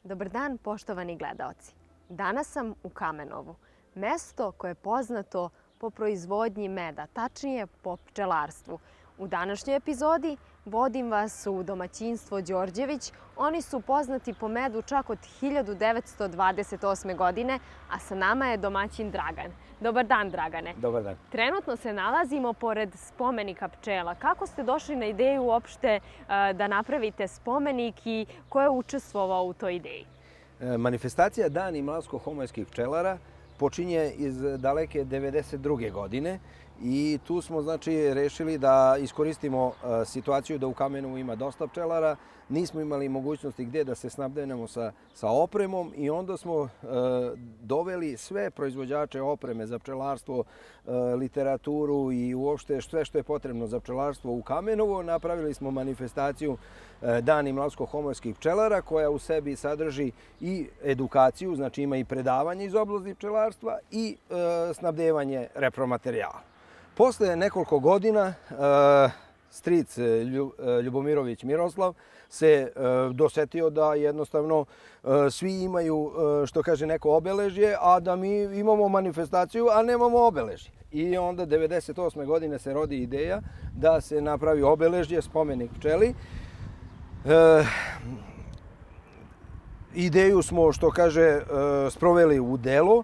Dobar dan, poštovani gledaoci. Danas sam u Kamenovu, mesto koje je poznato po proizvodnji meda, tačnije po pčelarstvu. U današnjoj epizodi vodim vas u domaćinstvo Đorđević. Oni su poznati po medu čak od 1928. godine, a sa nama je domaćin Dragan. Dobar dan, Dragane. Dobar dan. Trenutno se nalazimo pored spomenika pčela. Kako ste došli na ideju uopšte da napravite spomenik i ko je učestvovao u toj ideji? Manifestacija Dani mlavsko-homojskih pčelara počinje iz daleke 1992. godine i tu smo rešili da iskoristimo situaciju da u Kamenovu ima dosta pčelara. Nismo imali mogućnosti gdje da se snabdevamo sa opremom i onda smo doveli sve proizvođače opreme za pčelarstvo, literaturu i uopšte sve što je potrebno za pčelarstvo u Kamenovo. Napravili smo manifestaciju Dani mlavsko-homojskih pčelara koja u sebi sadrži i edukaciju, znači ima i predavanje iz oblasti pčelarstva i snabdevanje repromaterijala. Posle nekoliko godina stric Ljubomirović Miroslav se dosetio da jednostavno svi imaju, što kaže, neko obeležje, a da mi imamo manifestaciju, a nemamo obeležje. I onda 1998. godine se rodi ideja da se napravi obeležje, spomenik pčeli. Ideju smo, što kaže, sproveli u delo.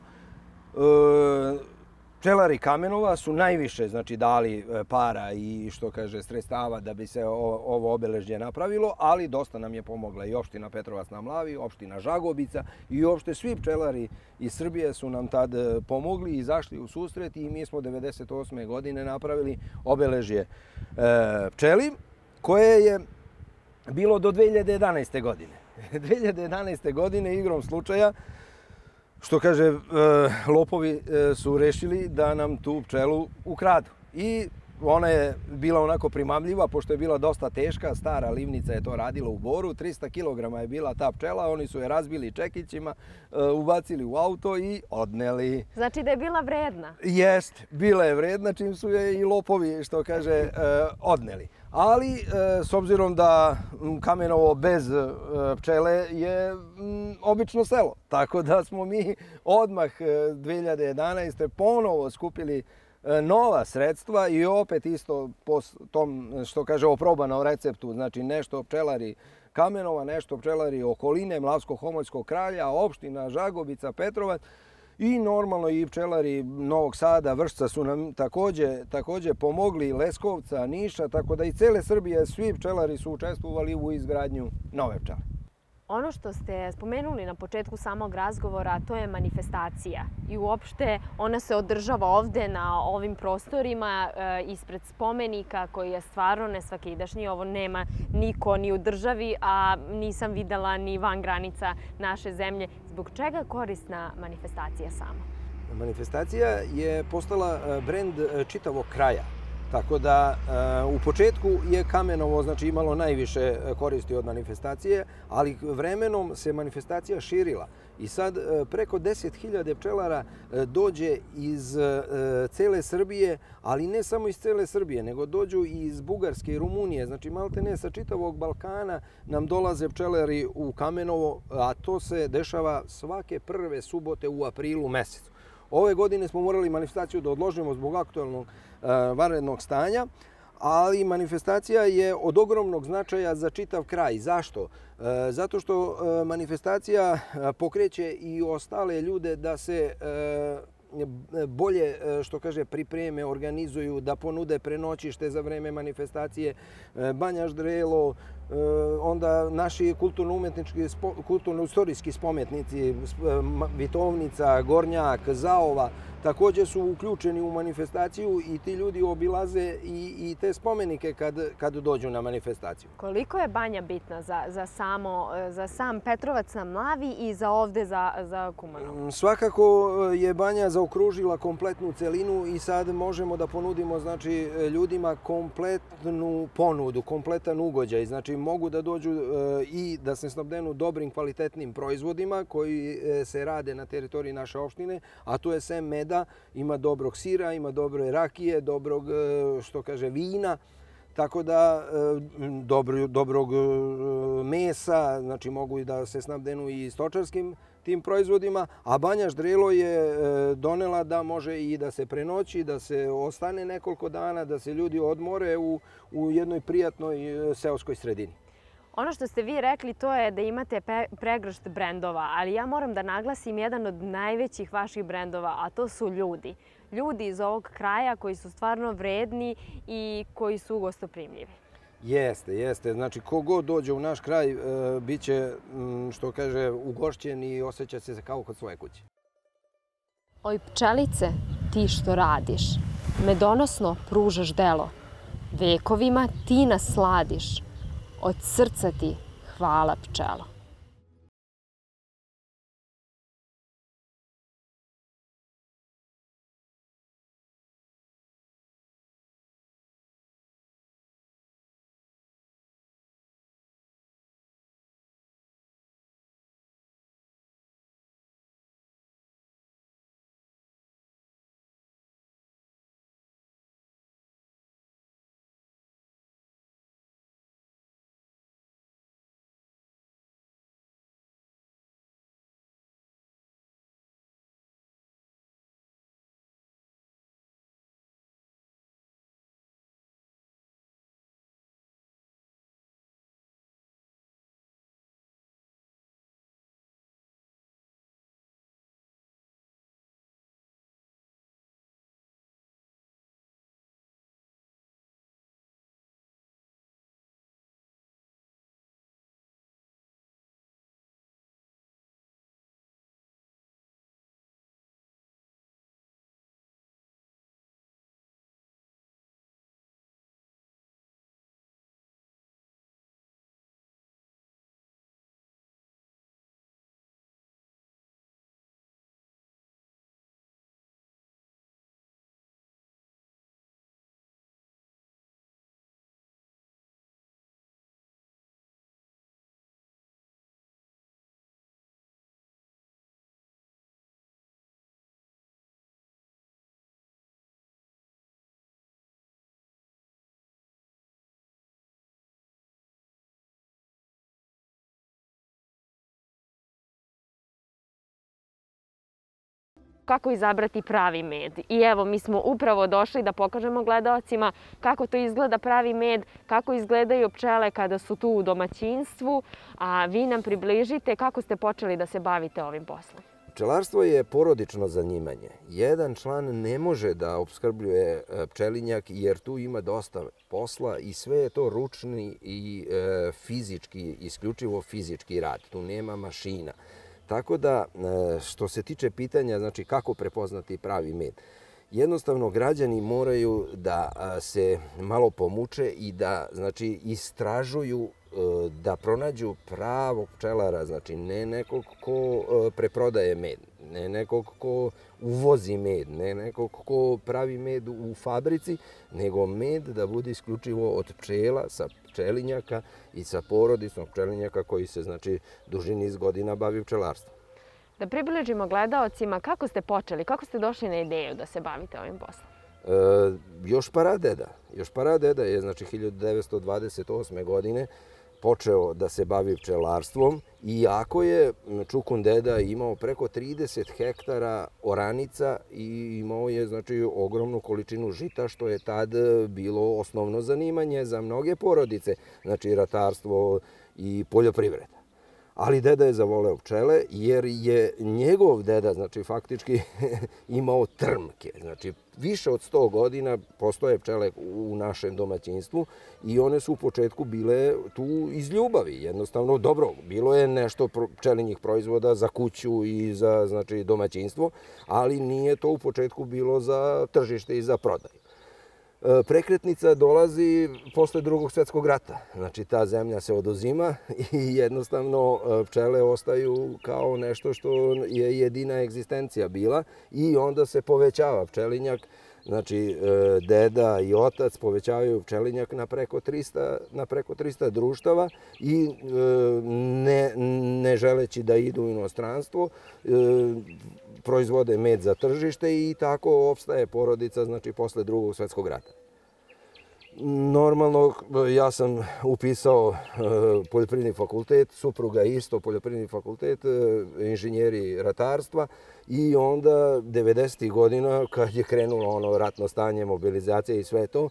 Pčelari Kamenova su najviše dali para i, što kaže, sredstava da bi se ovo obeležje napravilo, ali dosta nam je pomogla i opština Petrovac na Mlavi, opština Žagobica i uopšte svi pčelari iz Srbije su nam tad pomogli i izašli u susret i mi smo 1998. godine napravili obeležje pčeli koje je bilo do 2011. godine. 2011. godine igrom slučaja, što kaže, lopovi su rešili da nam tu pčelu ukradu. I ona je bila onako primamljiva, pošto je bila dosta teška, stara livnica je to radila u Boru, 300 kg je bila ta pčela, oni su je razbili čekićima, ubacili u auto i odneli. Znači da je bila vredna? Jest, bila je vredna, čim su je i lopovi, što kaže, odneli. Ali, s obzirom da Kamenovo bez pčele je obično selo, tako da smo mi odmah 2011. ponovo skupili nova sredstva i opet isto po tom, što kaže, oprobanom receptu, znači nešto pčelari Kamenova, nešto pčelari okoline, Mlavsko-Homoljskog kralja, opština Žagobica, Petrovac i normalno i pčelari Novog Sada, Vršca su nam također pomogli, Leskovca, Niša, tako da i cele Srbije svi pčelari su učestvovali u izgradnju nove pčele. Ono što ste spomenuli na početku samog razgovora, to je manifestacija i uopšte ona se održava ovde na ovim prostorima ispred spomenika koji je stvarno nesvakidašnji. Ovo nema niko ni u državi, a nisam videla ni van granica naše zemlje. Zbog čega je korisna manifestacija sama? Manifestacija je postala brend čitavog kraja. Tako da u početku je Kamenovo imalo najviše koristi od manifestacije, ali vremenom se manifestacija širila. I sad preko 10.000 pčelara dođe iz cele Srbije, ali ne samo iz cele Srbije, nego dođu i iz Bugarske i Rumunije. Znači maltene sa čitavog Balkana nam dolaze pčelari u Kamenovo, a to se dešava svake prve subote u aprilu mesecu. Ove godine smo morali manifestaciju da odložimo zbog aktualnog vanrednog stanja, ali manifestacija je od ogromnog značaja za čitav kraj. Zašto? Zato što manifestacija pokreće i ostale ljude da se bolje, što kaže, pripreme, organizuju, da ponude prenoćište za vreme manifestacije, Banja Ždrelo, onda naši kulturno-istorijski spometnici, Vitovnica, Gornjak, Zaova, također su uključeni u manifestaciju i ti ljudi obilaze i te spomenike kad dođu na manifestaciju. Koliko je Banja bitna za sam Petrovac na Mlavi i za ovde za Kumanovo? Svakako je Banja zaokružila kompletnu celinu i sad možemo da ponudimo ljudima kompletnu ponudu, kompletan ugođaj. Znači mogu da dođu i da se snabdenu dobrim, kvalitetnim proizvodima koji se rade na teritoriji naše opštine, a to je sem meda, ima dobrog sira, ima dobre rakije, dobrog, što kaže, vina. tako da dobrog mesa, znači mogu i da se snabdenu i stočarskim tim proizvodima, a Banja Ždrelo je donela da može i da se prenoći, da se ostane nekoliko dana, da se ljudi odmore u jednoj prijatnoj seoskoj sredini. Ono što ste vi rekli to je da imate pregršt brendova, ali ja moram da naglasim jedan od najvećih vaših brendova, a to su ljudi. Ljudi iz ovog kraja koji su stvarno vredni i koji su gostoprimljivi. Jeste. Znači, kogod dođe u naš kraj, bit će, što kaže, ugošćen i osjeća se kao kod svoje kuće. Oj pčelice, ti što radiš, medonosno pružaš delo, vekovima ti nas sladiš, od srca ti hvala pčelo. Kako izabrati pravi med. I evo, mi smo upravo došli da pokažemo gledaocima kako to izgleda pravi med, kako izgledaju pčele kada su tu u domaćinstvu, a vi nam približite kako ste počeli da se bavite ovim poslom. Pčelarstvo je porodično zanimanje. Jedan član ne može da opskrbljuje pčelinjak jer tu ima dosta posla i sve je to ručni i fizički, isključivo fizički rad. Tu nema mašina. Tako da, što se tiče pitanja, znači kako prepoznati pravi med, jednostavno građani moraju da se malo pomuče i da, znači, istražuju, da pronađu pravog pčelara, znači ne nekog ko preprodaje med, ne nekog ko uvozi med, ne nekog ko pravi med u fabrici, nego med da bude isključivo od pčela, sa pčelinjaka i sa porodicom pčelinjaka koji se, znači, duži niz godina bavi pčelarstvom. Da približimo gledaocima kako ste počeli, kako ste došli na ideju da se bavite ovim poslom? Još paradeda je, znači, 1928. godine počeo da se bavi pčelarstvom, iako je Čukun deda imao preko 30 hektara oranica i imao je, znači, ogromnu količinu žita, što je tad bilo osnovno zanimanje za mnoge porodice, znači ratarstvo i poljoprivreda. Ali deda je zavoleo pčele jer je njegov deda, znači, faktički imao trmke. Znači, više od 100 godina postoje pčele u našem domaćinstvu i one su u početku bile tu iz ljubavi. Jednostavno, dobro, bilo je nešto pčelinjih proizvoda za kuću i za, znači, domaćinstvo, ali nije to u početku bilo za tržište i za prodaju. Prekretnica dolazi posle Drugog svjetskog rata. Znači, ta zemlja se oduzima i jednostavno pčele ostaju kao nešto što je jedina egzistencija bila i onda se povećava pčelinjak. Znači, deda i otac povećavaju pčelinjak na preko 300 društava i ne želeći da idu u inostranstvo, proizvode med za tržište i tako opstaje porodica, znači, posle Drugog svjetskog rata. Normalno, ja sam upisao poljoprivredni fakultet, supruga isto poljoprivredni fakultet, inženjeri ratarstva i onda 90. godina kad je krenulo ono ratno stanje, mobilizacija i sve to,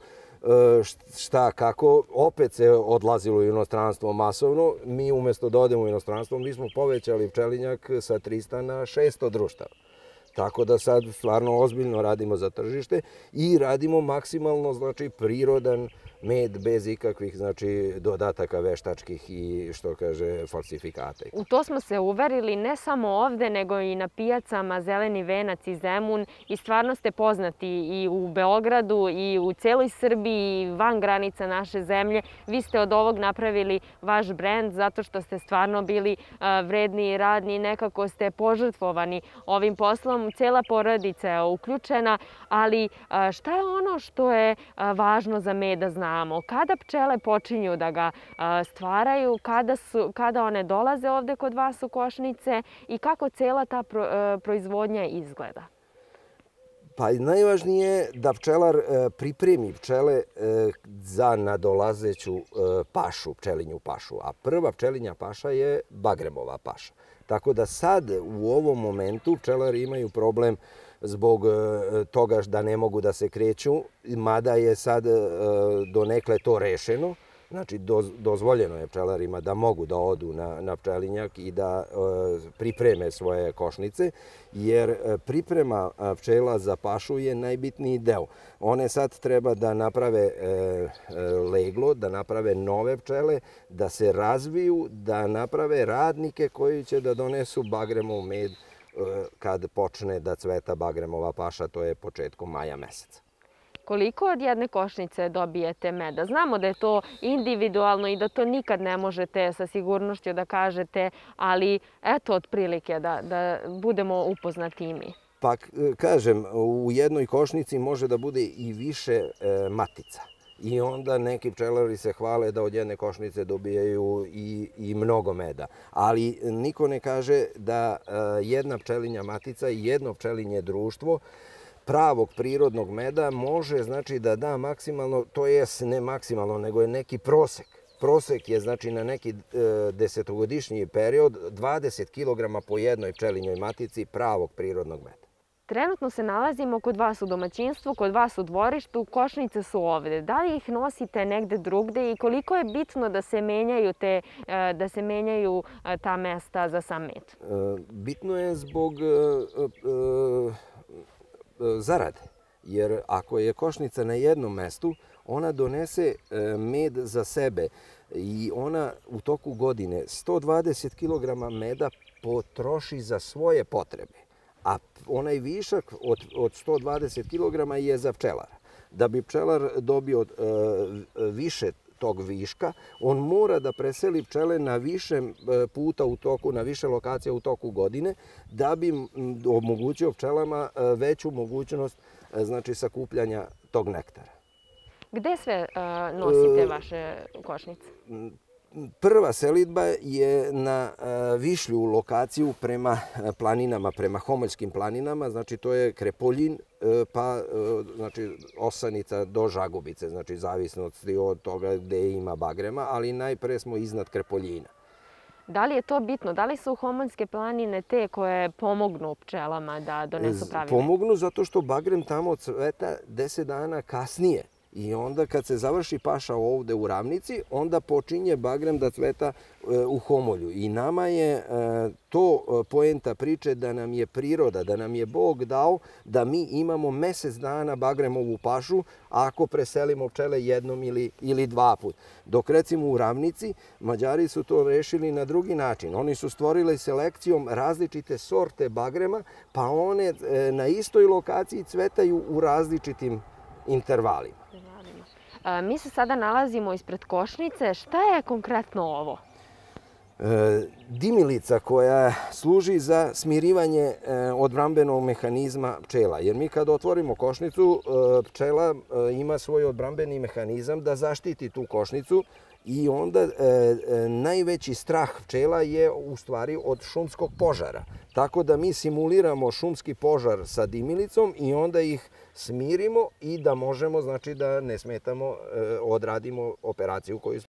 šta, kako, opet se odlazilo u inostranstvo masovno. Mi umjesto da odemo u inostranstvo, mi smo povećali pčelinjak sa 300 na 600 društava. Tako da sad stvarno ozbiljno radimo za tržište i radimo maksimalno, znači, prirodan med bez ikakvih, znači, dodataka veštačkih i, što kaže, falsifikata. U to smo se uverili ne samo ovde, nego i na pijacama Zeleni venac i Zemun i stvarno ste poznati i u Beogradu i u celoj Srbiji i van granica naše zemlje. Vi ste od ovog napravili vaš brend zato što ste stvarno bili vredni i radni, nekako ste požrtvovani ovim poslom. Cela porodica je uključena, ali šta je ono što je važno za med da znamo? Kada pčele počinju da ga stvaraju, kada one dolaze ovde kod vas u košnice i kako cela ta proizvodnja izgleda? Pa najvažnije je da pčelar pripremi pčele za nadolazeću pašu, pčelinju pašu. A prva pčelinja paša je bagremova paša. Tako da sad u ovom momentu pčelari imaju problem zbog toga da ne mogu da se kreću, mada je sad donekle to rešeno. Znači, dozvoljeno je pčelarima da mogu da odu na pčelinjak i da pripreme svoje košnice, jer priprema pčela za pašu je najbitniji deo. One sad treba da naprave leglo, da naprave nove pčele, da se razviju, da naprave radnike koji će da donesu bagremov med kad počne da cveta bagremova paša, to je početkom maja meseca. Koliko od jedne košnice dobijete meda? Znamo da je to individualno i da to nikad ne možete sa sigurnošću da kažete, ali eto otprilike da budemo upoznati i mi. Pa kažem, u jednoj košnici može da bude i više matica. I onda neki pčelari se hvale da od jedne košnice dobijaju i mnogo meda. Ali niko ne kaže da jedna pčelinja matica i jedno pčelinje društvo pravog prirodnog meda može, znači, da da maksimalno, to jest ne maksimalno, nego je neki prosek. Prosek je, znači, na neki desetogodišnji period 20 kg po jednoj pčelinjoj matici pravog prirodnog meda. Trenutno se nalazimo kod vas u domaćinstvu, kod vas u dvorištu, košnice su ovde. Da li ih nosite negde drugde i koliko je bitno da se menjaju ta mesta za sam med? Bitno je zbog zarade, jer ako je košnica na jednom mestu, ona donese med za sebe i ona u toku godine 120 kg meda potroši za svoje potrebe, a onaj višak od 120 kg je za pčelara. Da bi pčelar dobio više tog viška, on mora da preseli pčele na više puta u toku, na više lokacija u toku godine, da bi omogućio pčelama veću mogućnost, znači, sakupljanja tog nektara. Gde sve nosite vaše košnice? Prva selidba je na višlju lokaciju prema planinama, prema Homoljskim planinama, znači to je Krepoljin, pa znači Osanica do Žagubice, znači zavisno od toga gde ima bagrema, ali najpre smo iznad Krepoljina. Da li je to bitno? Da li su Homoljske planine te koje pomognu pčelama da donesu pravi med? Pomognu zato što bagrem tamo cveta 10 dana kasnije. I onda kad se završi paša ovde u ravnici, onda počinje bagrem da cveta u Homolju. I nama je to poenta priče da nam je priroda, da nam je Bog dao da mi imamo mesec dana bagremovu pašu ako preselimo pčele jednom ili dva put. Dok recimo u ravnici Mađari su to rešili na drugi način. Oni su stvorili selekcijom različite sorte bagrema, pa one na istoj lokaciji cvetaju u različitim intervalima. Mi se sada nalazimo ispred košnice. Šta je konkretno ovo? Dimilica koja služi za smirivanje odbrambenog mehanizma pčela. Jer mi kad otvorimo košnicu, pčela ima svoj odbrambeni mehanizam da zaštiti tu košnicu I onda najveći strah pčela je u stvari od šumskog požara. Tako da mi simuliramo šumski požar sa dimilicom i onda ih smirimo i da možemo, znači da ne smetamo, odradimo operaciju koju smo.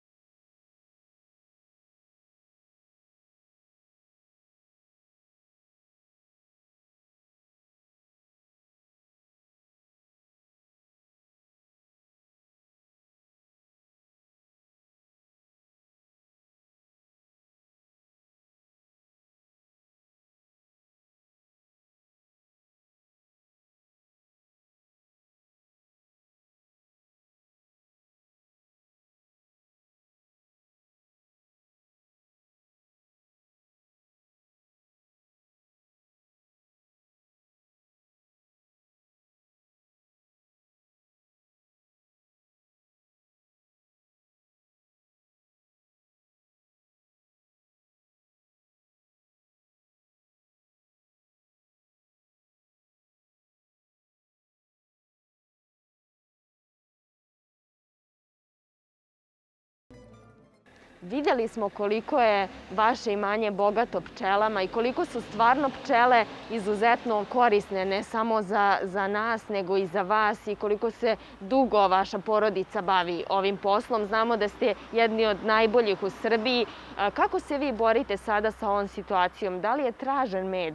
Vidjeli smo koliko je vaše imanje bogato pčelama i koliko su stvarno pčele izuzetno korisne, ne samo za nas, nego i za vas i koliko se dugo vaša porodica bavi ovim poslom. Znamo da ste jedni od najboljih u Srbiji. Kako se vi borite sada sa ovom situacijom? Da li je tražen med?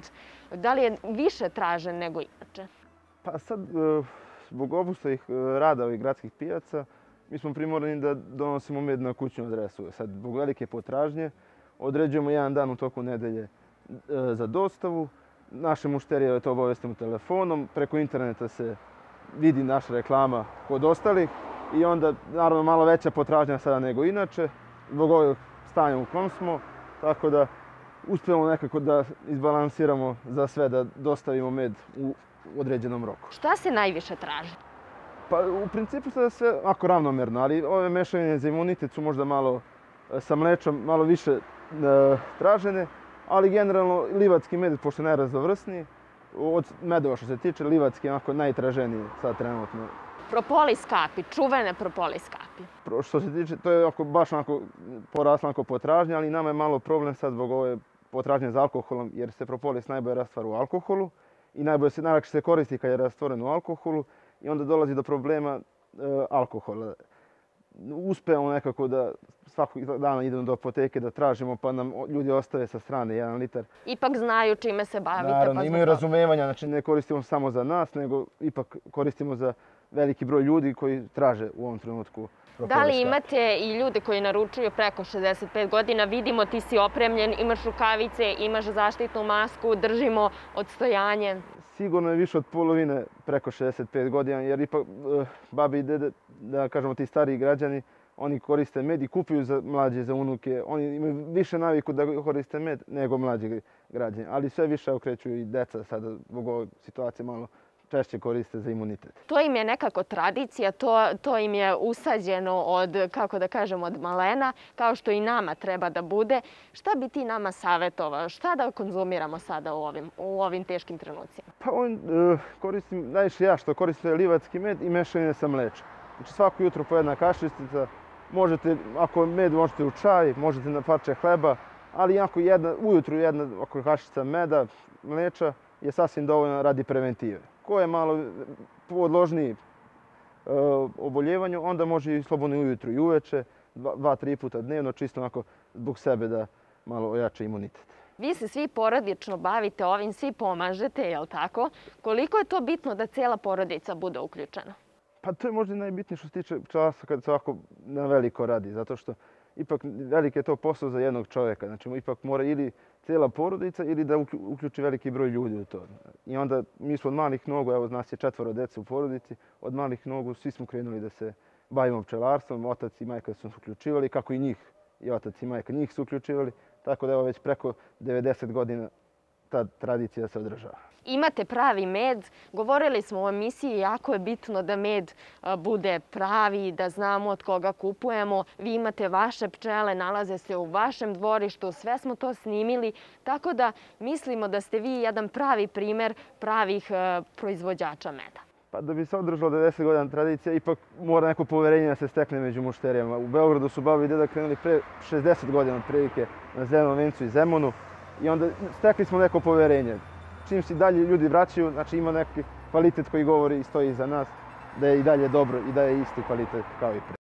Da li je više tražen nego inače? Pa sad, zbog obustavih rada ovih gradskih pijaca, mi smo primorani da donosimo med na kućnu adresu. Sad, zbog velike potražnje, određujemo jedan dan u toku nedelje za dostavu. Naše mušterije to obavestimo telefonom, preko interneta se vidi naša reklama kod ostalih i onda, naravno, malo veća potražnja sada nego inače, zbog ovog stanja u kom smo, tako da uspijemo nekako da izbalansiramo za sve, da dostavimo med u određenom roku. Šta se najviše traži? Pa u principu sada sve ako ravnomerno, ali ove mešavine za imunitet su možda malo sa mlečom malo više tražene, ali generalno livatski med, pošto je najraznovrsniji, od medova što se tiče, livatski je onako najtraženiji sad trenutno. Propolis kapi, čuvene propolis kapi. Što se tiče, to je baš onako porasla potražnja, ali nama je malo problem sad zbog ove potražnje za alkoholom, jer se propolis najbolje rastvara u alkoholu i najlakše se koristi kad je rastvoren u alkoholu i onda dolazi do problema alkohola. Uspevamo nekako da svakog dana idemo do apoteke da tražimo, pa nam ljudi ostave sa strane 1 litar. Ipak znaju čime se bavite. Naravno, imaju razumevanja, znači ne koristimo samo za nas, nego ipak koristimo za veliki broj ljudi koji traže u ovom trenutku. Da li imate i ljude koji naručuju preko 65 godina? Vidimo, ti si opremljen, imaš rukavice, imaš zaštitnu masku, držimo odstojanje. Sigurno je više od polovine preko 65 godina, jer ipak babi i dede, da kažemo ti stariji građani, oni koriste med i kupuju za mlađe, za unuke. Oni imaju više naviku da koriste med nego mlađi građani, ali sve više okreću i deca sada zbog ove situacije malo češće koriste za imunitet. To im je nekako tradicija, to im je usađeno od, kako da kažem, od malena, kao što i nama treba da bude. Šta bi ti nama savjetovao? Šta da konzumiramo sada u ovim teškim trenucima? Pa koristim, najviše ja što koristim livatski med i mešavine sa mlečem. Znači svako jutro po 1 kašictica, možete, ako med možete u čaj, možete na parče hleba, ali ujutru 1 kašica meda, mleča je sasvim dovoljno radi preventive. Ko je malo podložniji oboljevanju, onda može i slobodno ujutru i uveče, 2-3 puta dnevno, čisto onako zbog sebe da malo ojača imunitet. Vi se svi porodično bavite ovim, svi pomažete, je li tako? Koliko je to bitno da cijela porodica bude uključena? Pa to je možda najbitnije što se tiče pčelarstva kad se ovako na veliko radi, zato što ipak veliki je to posao za jednog čovjeka. Znači ipak mora ili cijela porodica ili da uključi veliki broj ljudi u to. I onda mi smo od malih nogu, evo nas je 4 dece u porodici, od malih nogu svi smo krenuli da se bavimo pčelarstvom. Otac i majka su se uključivali, kako i njih, i otac i majka njih su uključivali. Tako da evo već preko 90 godina ta tradicija se održava. Imate pravi med. Govorili smo u emisiji, jako je bitno da med bude pravi, da znamo od koga kupujemo. Vi imate vaše pčele, nalaze se u vašem dvorištu, sve smo to snimili. Tako da mislimo da ste vi jedan pravi primer pravih proizvođača meda. Pa da bi se održalo 90 godina tradicija, ipak mora neko poverenje da se stekne među mušterijama. U Beogradu su baba i deda krenuli pre 60 godina otprilike na Zelenom vencu i Zemunu i onda stekli smo neko poverenje. Čim se dalje ljudi vraćaju, znači ima neki kvalitet koji govori i stoji iza nas, da je i dalje dobro i da je isti kvalitet kao i pre.